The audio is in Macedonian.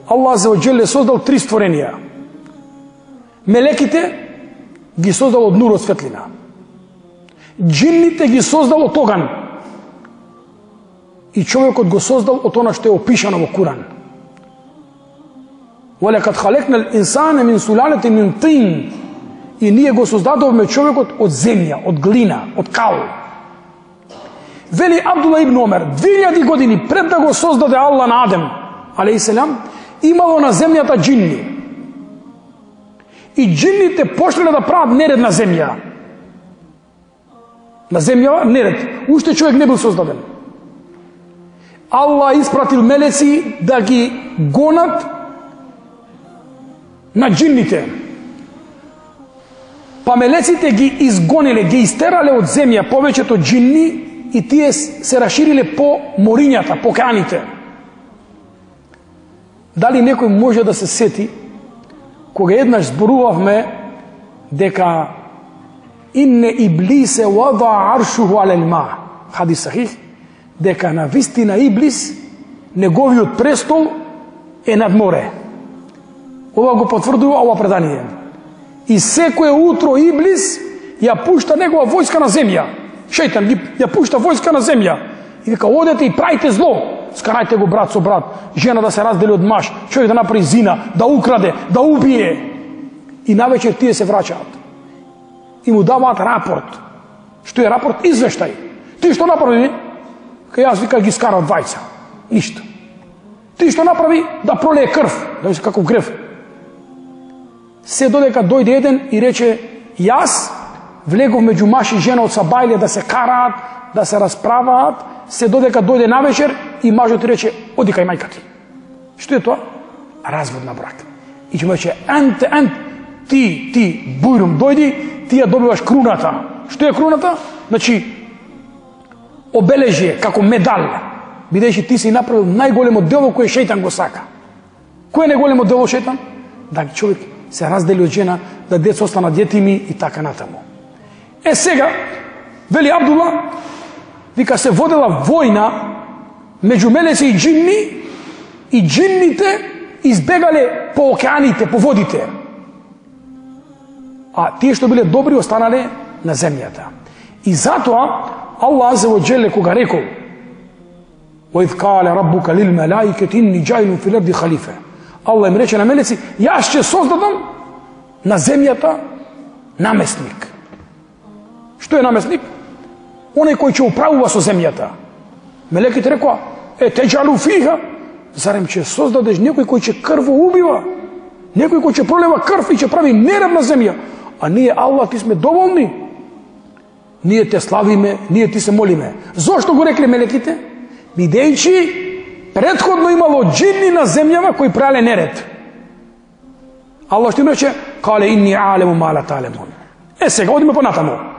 Allah Azza wa Jalla создал три створенија. Мелеките ги создал од нур, од светлина. Джинните ги создал од оган. И човекот го создал од она што е опишано во Куран. وَلَقَدْ خَلَقْنَا الْإِنسَانَ مِنْ سُلَالَةٍ مِنْ طِينٍ. И ние го создадовме човекот од земја, од глина, од кал. Вели Абдулла ибн Омер, 2000 години пред да го создаде Аллах на Адем, алейхиселам, имало на земјата джинни. И джинните почнале да прават неред на земја. На земја неред. Уште човек не бил создаден. Аллах испратил мелеци да ги гонат на джинните. Па мелеците ги изгониле, ги истерале од земја повеќето джинни и тие се расшириле по морињата, по океаните. Дали некој може да се сети кога еднаш зборувавме дека инне иблисе вада аршуху алел ма, хадис сахих, дека на вистина Иблис неговиот престол е над море. Ова го потврдува ова предание. И секое утро Иблис ја пушта негова војска на земја. Шејтан ја пушта војска на земја. И вика, одете и правите зло. Скарајте го брат со брат, жена да се раздели од маж, човек да направи зина, да украде, да убие. И навечер тие се враќаат. И му даваат рапорт. Што е рапорт? Извештај. Ти што направи? Кај јас вика ги скара двајца. Ништо. Ти што направи? Да пролее крв. Да ви се каков грев. Се додека дојде еден и рече, јас влегов меѓу маж и жена од сабајле да се караат, да се расправаат, се додека дојде навечер и мажот рече, оди кај мајка ти. Што е тоа? Развод на брак. И ќе му рече, ти, бујрум, дојди, ти ја добиваш круната. Што е круната? Значи, обележие, како медал, бидејќи ти си направил најголемо дело кое шејтан го сака. Кој е најголемо дело шејтан? Да човек се раздели од жена, да деца останат јетими и така натаму. Сега, вели Абдулла, вика се водела војна меѓу мелеци и джинни, и джинните избегале по океаните, по водите. А тие што биле добри останале на земјата. И затоа Аллах Азza wa Jalla кога рекол وَإِذْ قَالَ رَبُّكَ لِلْمَلَائِكَةِ إِنِّي جَاعِلٌ فِي الْأَرْضِ خَلِيفَةً. Аллах им рече на мелеци, јас ќе создадам на земјата наместник. Што е наместник? Оној кој ќе управува со земјата. Мелеките рекоа, теџалу фиха, зарем ќе создадеш некој кој ќе крво убива, некој кој ќе пролива крв и ќе прави неред на земја. А ние, Аллах, ти сме доволни. Ние те славиме, ние ти се молиме. Зошто го рекле мелеките? Бидејќи претходно имало джинни на земјава кои правеле неред. Аллах што им рече, кале инни алему ма ла та'ламун. Сега, одиме понатаму.